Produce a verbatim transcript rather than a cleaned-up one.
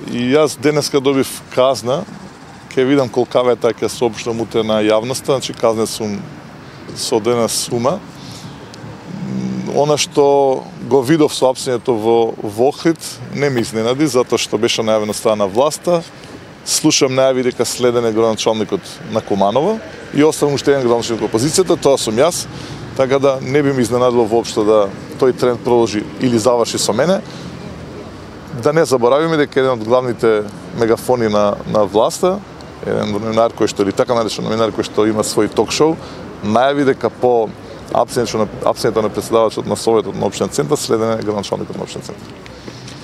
И јас денеска добив казна, ќе видам колкава е таа, ќе соопштам утре на јавноста, значи казна сум со одредена сума. Она што го видов со апсењето во, во Охрид не ме изненади, затоа што беше најавено страна власта. Слушам најави дека следен е градоначалникот на Куманово и оставам уште еден градоначалник во опозицијата, тоа сум јас, така да не би ме изненадило воопшто да тој тренд продолжи или заврши со мене. Да не заборавиме дека еден од главните мегафони на, на власта, еден новинар кој што или така наречен новинар кој што има свој ток-шоу, најави дека по апсењето на, апсењето на претседавачот на Советот на општинен центар следен е градоначалникот на општинен центар.